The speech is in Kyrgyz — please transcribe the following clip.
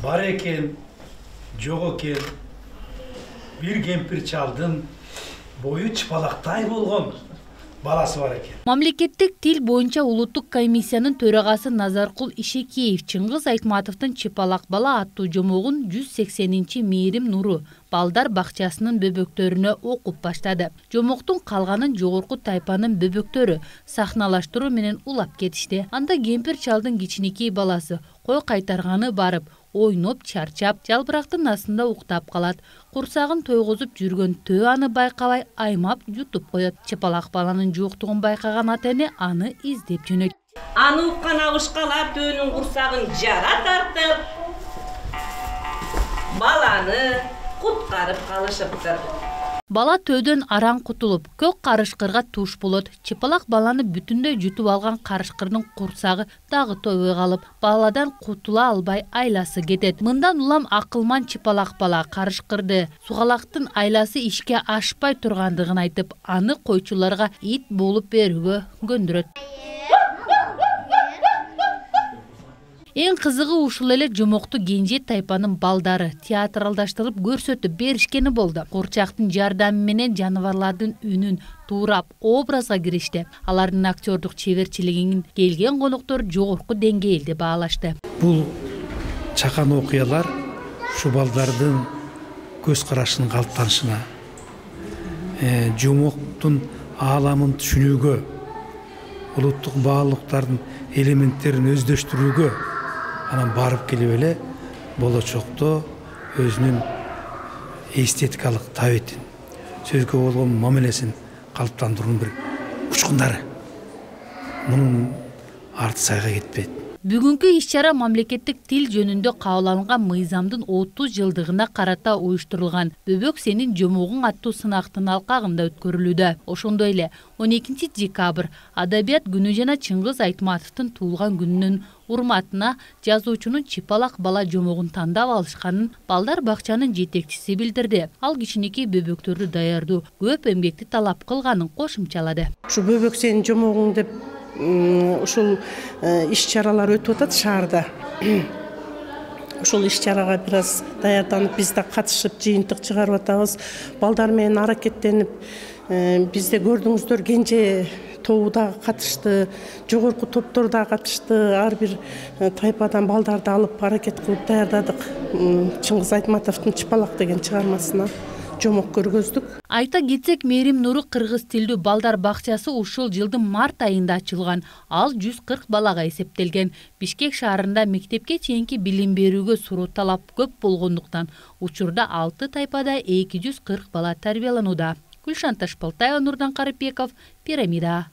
бар экен, жок экен. Бир кемпир чалдын бою чыпалактай болгон баласы бар экен. Мамлекеттик тил боюнча улуттук комиссиянын төрагасы Назаркул Ишекеев Чыңгыз Айтматовдун чыпалак бала аттуу жомогун 180-чи мээрим нуру балдар бакчасынын бөбөктөрүнө окуп баштады. Жомоктун калганын жогорку тайпанын бөбөктөрү сахналаштыруу менен улап кетишти. Анда кемпир чалдын кичинекей баласы кой кайтарганы барып, ойноп чарчап, жалбырактын астында уктап калат. Курсагын тойгозуп жүргөн төө аны байкабай аймап жутуп коет. Чыпалак баланын жоктугун байкаган ата-эне аны издеп жөнөйт. Аны уккан абышкалар төөнүн курсагын жара тартып, баланы куткарып калышыптыр. Бала төөдөн араң кутулуп, көк карышкырга туш болот. Чыпалак баланы бүтүндөй жутуп алган карышкырдын курсагы дагы тойбой калып, баладан кутула албай айласы кетет. Мындан улам акылман чыпалак бала карышкырды сугалактын айласы ишке ашпай тургандыгын айтып, аны койчуларга ит болуп берүүгө көндүрөт. Эң кызыгы ушул эле жомокту кенже тайпанын балдары театралдаштырып көрсөтүп беришкени болду. Курчактын жардамы менен жаныбарлардын үнүн туурап образга киришти. Алардын актёрдук чеберчилигин келген коноктор жогорку деңгээлде баалашты. Бул чакан окуялар ушу балдардын көз карашынын калыптанышына, жомоктун ааламын түшүнүүгө, улуттук баалуулуктардын элементтерин өздөштүрүүгө анан барып келип эле болочокто өзүнүн эстетикалык табитин, сөзгө болгон мамилесин калыптандыруунун бир учкундары. Мунун арты сайга кетпейт. Бүгүнкү иш-чара мамлекеттик тил жөнүндө кабыл алынган мыйзамдын 30 жылдыгына карата уюштурулган Бөбөк сенин жомогуң аттуу сынактын алкагында өткөрүлүүдө. Ошондой эле 12 декабрь Адабият күнү жана Чыңгыз Айтматовдун туулган күнүнүн урматына жазуучунун чыпалак бала жомогун тандап алышканын балдар бакчанын жетекчиси билдирди. Ал кичинекей бөбөктөрдү даярдоо көп эмгекти талап кылганын кошумчалады. Ушу Бөбөк сенин жомогуң деп ушул иш-чаралар өтүп атат шаарда. Ушул иш-чарага бир аз даярданып, биз да катышып, жыйынтык чыгарып атабыз. Балдар менен аракеттенип, бизде көрдүңүздөр кенже тобу дагы катышты, жогорку топтор дагы катышты. Ар бир тайпадан балдарды алып аракет кылып даярдадык. Чыңгыз Айтматовдун Чыпалак деген чыгармасына жомок көргөздүк. Айта кетсек, Мээрим Нуру кыргыз тилдүү балдар бакчасы ушул жылдын март айында ачылган. Ал 140 балага эсептелген. Бишкек шаарында мектепке чейинки билим берүүгө суроо талап көп болгондуктан учурда 6 тайпада 240 бала тарбияланууда. Гүлшан Ташпалтаева, Нурдан Карыпбеков, Пирамида.